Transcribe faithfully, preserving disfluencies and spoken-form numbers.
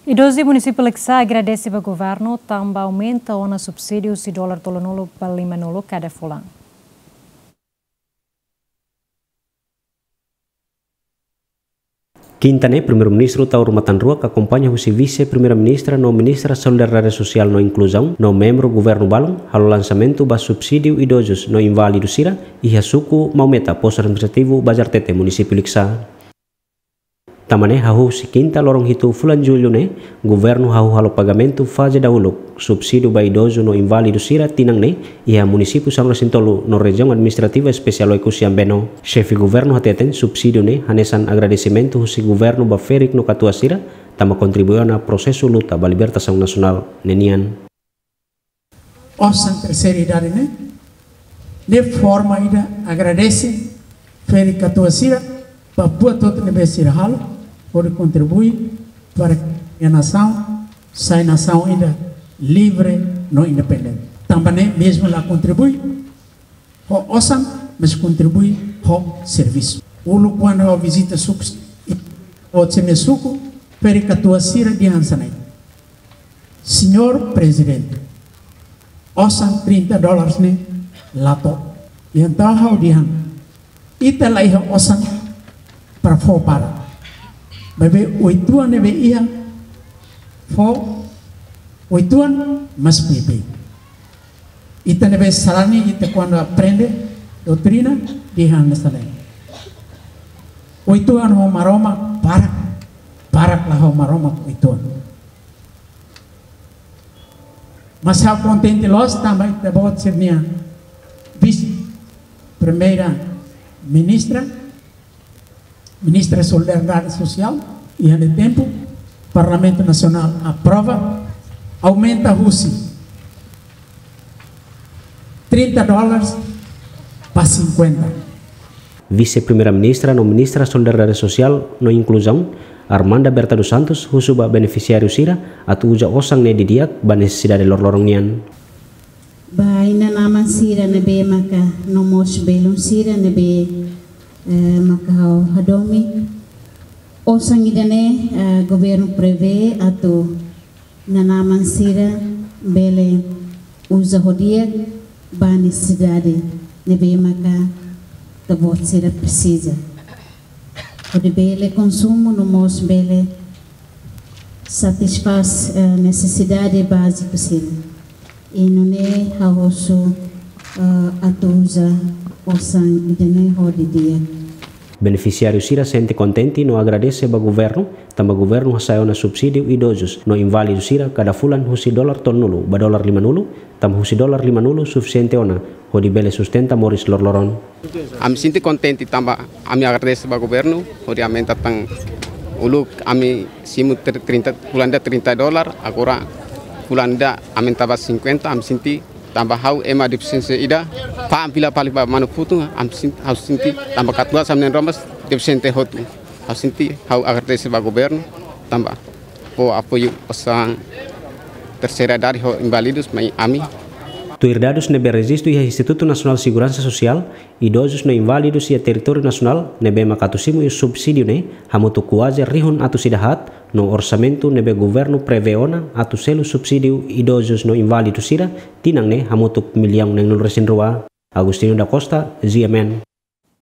Idozu iha munisípiu Likisá agradese ba governu tanba aumenta ona subsídiu husi dolar tolunulu ba limanulu kada fulan. Kinta ne'e, Primeiru-Ministru Taur Matan Ruak akompaña husi Vise-Primeira-Ministra no Ministra Solidariedade Sosiál no Inkluzaun no membru governu balun halo lansamentu ba subsídiu idozus no inválidu sira iha suku Maumeta, Postu Administrativu Bazartete, munisípiu Likisá. Tanba ne'e, hahú husi kinta loron hitu fulan jullu ne'e, governu hahú halo pagamentu faze dahuluk subsídiu ba idozu no inválidu sira tinan ne'e iha munisípiu sanulu-resin-tolu no Rejiaun Administrativa Espesiál Oekusi Ambeno. Xefe governu hateten subsídiu ne'e hanesan agradesimentu husi governu ba ferik no katuas sira tanba kontribui ona prosesu luta ba libertasaun nasionál ne'e nian. Osan terseira idade ne'e, ne'e forma ida agradese ferik katuas sira ba buat hotu ne'ebé sira halo hodi kontribui para que a nasaun sai nasaun ida livre no independente. Tanba ne'e mezmu la kontribui ho osan, mas kontribui ho servisu. Uluk kuandu ha'u vizita suku, ha'u husu mai suku, ferik katuas sira dehan hanesan ne'e: Señór Prezidente, osan trinta dólares ne'e la to'o. Entaun ha'u dehan, ita la iha osan para fó barak. Maibé oituan ne'ebé iha, fó oituan mas beibeik. Ita ne'ebé sarani, ita kuandu aprende doutrina, dehan hanesan ne'e: Oituan ho Maromak barak, barak la ho Maromak oituan. Mas ha'u kontente loos tanba ita-boot sira-nia Vise-Primeira-Ministra, Ministra Solidariedade Sosiál, iha ne'e tempu, Parlamentu Nasionál aprova, aumenta husi trinta dólares ba sinkuenta. Vise-Primeira-Ministra no Ministra Solidariedade Sosiál no Inkluzaun, Armanda Berta dos Santos, husu ba benefisiáriu sira atu uza osan ne'e didi'ak ba nesesidade loroloron nian. Ba inan-aman sira ne'ebé maka no mós belun sira ne'ebé, eh, maka ha'u hadomi. Osan ida-ne'e, eh, governu prevee atu inan-aman sira bele uza ho di'ak ba nesesidade ne'ebé maka ita-boot sira presiza. Hodi bele konsumu no mós bele satisfás, eh, nesesidade báziku sira. I nune'e ha'u husu, eh, atu uza osan ida-ne'e ho di'ak. Benefisiáriu sira sente kontente no agradese ba governu, tanba governu hasa'e ona subsídiu idozus no inválidu sira kada fulan husi dolar tolunulu ba dolar limanulu, tanba husi dolar limanulu sufisiente ona hodi bele sustenta moris loroloron. Ami sente kontente tanba ami agradese ba governu hodi aumenta tan, uluk ami simu ter-, trinta, fulan ida trinta dolar, agora fulan ida aumenta ba sinkuenta, ami sente tanba ha'u ema defisiénsia ida, fa'an fila fali ba manu-futu, ami sen-, ha'u sente tanba katuas ami na'in-rua mós defisiente hotu. Ha'u sente, ha'u agradese ba governu tanba fó apoiu osan terseira idade ho inválidus mai ami. Tuir dadus ne'ebé rejistu iha Institutu Nasionál Seguransa Sosiál, idozus no inválidus iha territóriu nasionál ne'ebé maka atu simu subsídiu ne'e hamutuk kuaze rihun atus ida haat, no orsamentu ne'ebé governu prevee ona atu selu subsídiu idozus no inválidus sira tinan ne'e hamutuk millaun neenulu-resin-rua. Agostinho da Costa, G M N.